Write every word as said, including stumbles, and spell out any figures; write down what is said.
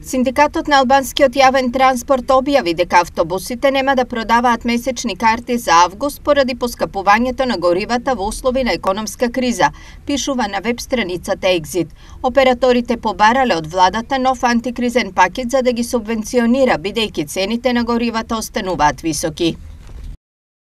Синдикатот на албанскиот јавен транспорт објави дека автобусите нема да продаваат месечни карти за август поради поскапувањето на горивата во услови на економска криза, пишува на веб страницата Екзит. Операторите побарале од владата нов антикризен пакет за да ги субвенционира, бидејќи цените на горивата остануваат високи.